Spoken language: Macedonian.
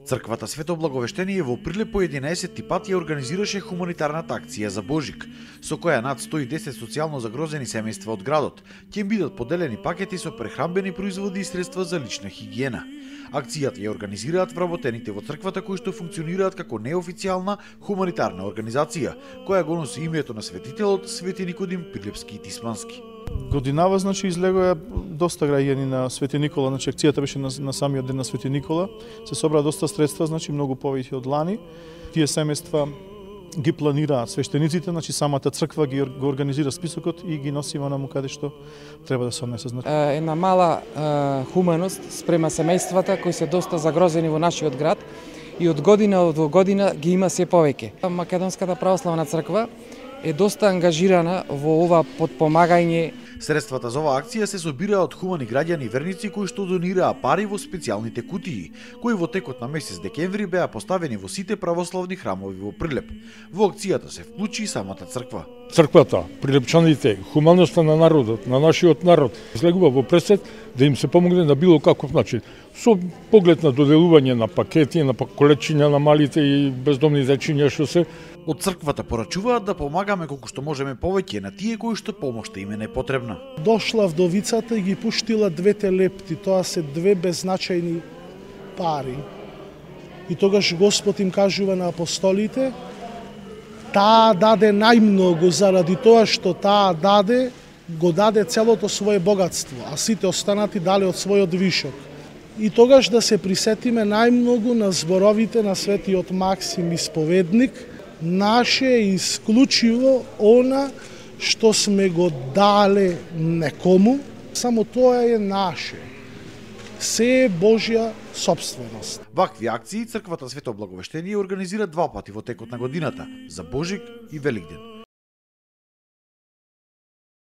Црквата Свето Благовештение во Прилеп по 11 пат ја организираше хуманитарната акција за Божик, со која над 110 социјално загрозени семејства од градот ќе им бидат поделени пакети со прехранбени производи и средства за лична хигиена. Акцијата ја организираат вработените во црквата кои што функционираат како неофицијална хуманитарна организација, која го носи името на светителот Свети Никодим Прилепски и Тисмански. Годинава, излегоа доста граѓани на Свети Никола, акцијата беше на самиот ден на Свети Никола. Се собра доста средства, многу повеќе од лани. Тие семејства ги планираат свештениците, самата црква го организира списокот и ги носи на каде што треба да се однесе. Една мала хуманост спрема семејствата кои се доста загрозени во нашиот град и од година во година ги има се повеќе. Македонската православна црква е доста ангажирана во ова подпомагање. Средствата за оваа акција се собираа од хумани граѓани и верници кои што донираа пари во специјалните кутии, кои во текот на месец декември беа поставени во сите православни храмови во Прилеп. Во акцијата се вклучи и самата црква. Црквата, прилепчаните, хуманоста на народот, на нашиот народ, излегува во пресед да им се помогне на било каков начин. Со поглед на доделување на пакети, на колечиња на малите и бездомни дечиња што се. Од црквата порачуваат да помагаме колку што можеме повеќе на тие кои што помошта им е непотребна. Дошла вдовицата и ги пуштила двете лепти, тоа се две беззначајни пари. И тогаш Господ им кажува на апостолите, таа даде најмногу заради тоа што таа даде, го даде целото свое богатство, а сите останати дале од својот вишок. И тогаш да се присетиме најмногу на зборовите на светиот Максим Исповедник, наше е исклучиво она што сме го дале некому, само тоа е наше. Се е Божја собственост. Вакви акции црквата Свето Благовештение организира 2 пати во текот на годината, за Божик и Великден.